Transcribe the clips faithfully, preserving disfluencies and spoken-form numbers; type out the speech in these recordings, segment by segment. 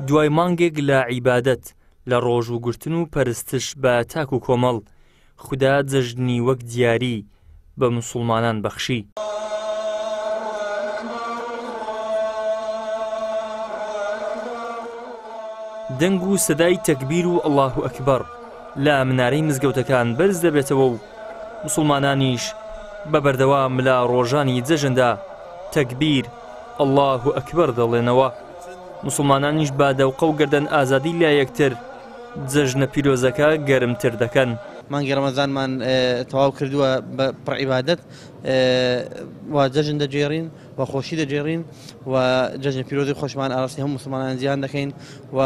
دوای مانگێک لە عیبادەت، لە ڕۆژووگرتن و پەرستش بە تاک و کۆمەڵ، خودا جەژنی وەک دیاری بە موسڵمانان بەخشی. دەنگ و سەدای تەکبیر و ئەڵڵاهو ئەکبەر لە منارەی مزگەوتەکان بەرز دەبێتەوە و موسڵمانانیش بە بەردەوام لە ڕۆژانی جەژندا تەکبیر ئەڵڵاهو ئەکبەر دەڵێنەوە. موسڵمانانیش بە دەوقە و گەردەن ئازادی لە یەکتر جەژنە پیرۆزەکە گەرمتر دەکەن. مانگی ڕەمەزانمان تەواو کردووە بە پڕ عیبادەت و جەژن دەگێڕین و خۆشی دەگێڕین و جەژنە پیرۆزی خۆشمان ئاراستەی هەموو موسڵمانان جیهان دەکەین و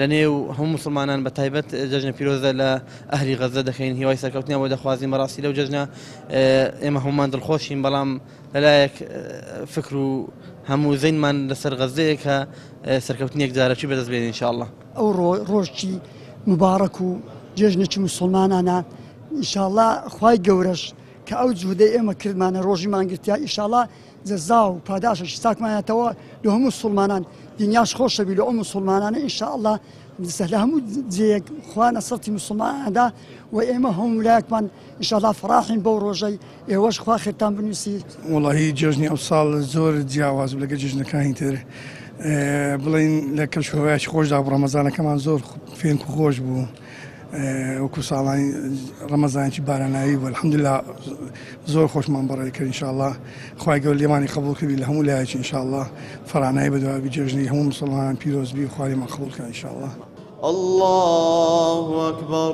لەنێو هەموو موسڵمانان بە تایبەت جەژنە پیرۆزە لە ئەهلی غەزە دەکەین. هیوای سەرکەوتنیان بۆ دەخوازین. بەڕاستی لەو جەژنە ئێمە هەمومان دڵخۆشین، بەڵام لەلایەک فکر و هەموو زەینمان لەسەر غەزەیە کە سەرکەوتنێک جارەکی بەدەست بێنین ئینشاءڵڵا. ئەو ڕۆژی مبارەک و جێژنێکی موسڵمانانە ئینشاءڵڵا خوای گەورەش کە ئەو جوودەی ئێمە کردمانە ڕۆژی مانگرتیا ئینشاءڵڵا جەزا و پاداشێکی چاکمانەتەوە لە هەموو موسڵمانان. دنیاش خۆشەبی لە ئەو موسڵمانانە ئینشاءڵڵا لە هەموو جێیەک خوا نەسرەتی موسڵماناندا و ئێمە هەموو لایەکمان ئینشاءڵڵا فەراحین بەو ڕۆژەی ئێوەش خوا خێرتان بنووسی. وەڵاهی جەژنی ئەو ساڵ زۆر جیاواز بوو لەگەڵ جەژنەکانی تر. بڵێن لە کەشوهەوایەکی خۆشدا بوو، ڕەمەزانەکەمان زۆر فێنک و خۆش بوو، وەکو ساڵانی ڕەمەزانێکی بارانایی بوو. الحەمدلله زۆر خۆشمان بەڕێ کرد ئینشاءڵڵا. خوای گەورە لێمانی قبوڵ کردی لە هەموو لایەکی ئینشاءڵڵا. فەرانایی بەدوای بی جەژنی هەموو موسڵمانان پیرۆز بی، خوا لێمان قبوڵ کە ئینشاءڵڵا. الله أكبر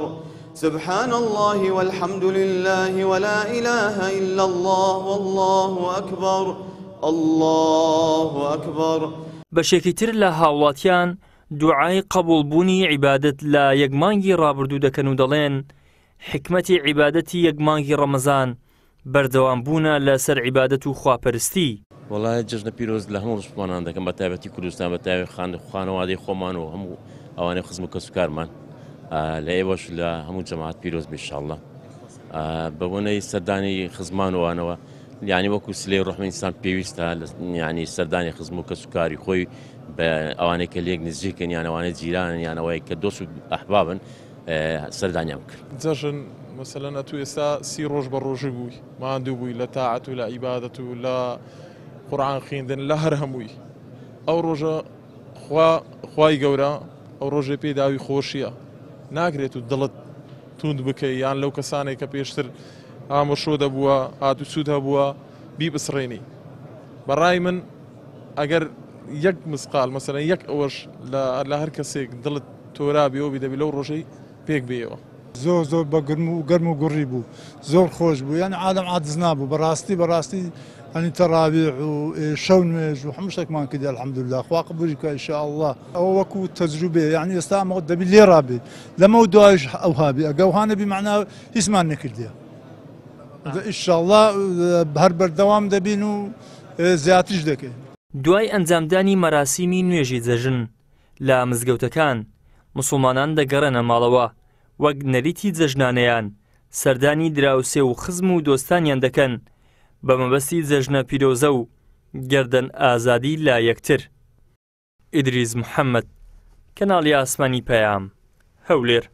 سبحان الله والحمد لله ولا إله إلا الله والله أكبر الله أكبر. بەشێکی تر لە هاوڵاتیان دوعای قبوڵبوونی عیبادەت لە یەک مانگی ڕابردوو دەکەن و دەڵێن حکمەتی عیبادەتی یەک مانگی ڕەمەزان بەردەوام بوونە لەسەر عیبادەت و خواپەرستی. وەڵای جەژنە پیرۆز لە هەموو موسڵمانان دەکەم، بە تایبەتی کوردستان، بە تایبەتی خانەوادەی خۆمان و هەموو ئەوانەی خزم و کەسوکارمان. لە ئێوەش لە هەموو جەماعەت پیرۆز بێ ئینشاءڵڵا. بە بۆنەی سەردانی خزمان وانەوە، یعنی وەکو سلەی ڕەحمی ئینسان پێویستە یعنی سەردانی خزم و کەسوکاری خۆی بە ئەوانەی کە لێک نزیکن یان ئەوانەی جیرانن یان ئەوەی کە دۆست و ئەحبابن سەردانیان بکرد. جەژن مەسەلەن ئەتوو ئێستا سی ڕۆژ بە ڕۆژی بووی، ماندوو بووی لە تاعەت و لە عیبادەت و لە قورئان خوێندن لە هەر هەمووی. ئەو ڕۆژە خوا خوای گەورە ئەو ڕۆژێ پێداوی خۆشیە، ناکرێت و دڵت توند بکەی یان لەو کەسانێک کە پێشتر ئامۆشۆ دەبووە هات و سوود هەبووە بیبسڕێنی. بەڕای من ئەگەر یەک مسقال مەسەلەن یەک ئەوەش لە هەر کەسێک دڵت تۆرابیەوە بی دەبی لەو ڕۆژەی پێک بێیەوە. زۆر زۆر بە گەرم و گەرم و گوڕی بوو، زۆر خۆش بوو، یعنی عالەم عادز نابوو بەڕاستی. بەڕاستی یعنی تەراویح و شەو نوێژ و هەموو شتێکمان کردی الحەمدلله. خوا قبولی بکە ئینشاءڵڵا. ئەوە وەکو تەجروبەیە، یعنی ئێستا ئەمە دەبی لێ ڕابێ لەمە دوایش ئەوها بێ، ئەگە ئەوها نەبی مەعنا هیچمان نەکردیە. ئینشاءڵڵا هەر بەردەوام دەبین و زیاتریش دەکەین. دوای ئەنجامدانی مەراسیمی نوێژی جەژن لە مزگەوتەکان موسڵمانان دەگەڕێنە ماڵەوە، وەک نەریتی جەژنانەیان سەردانی دراوسێ و خزم و دۆستانیان دەکەن بە مەبەستی جەژنە پیرۆزە و گەردەن ئازادی لە یەکتر. ئیدریس محەممەد، کەناڵی ئاسمانی پەیام، هەولێر.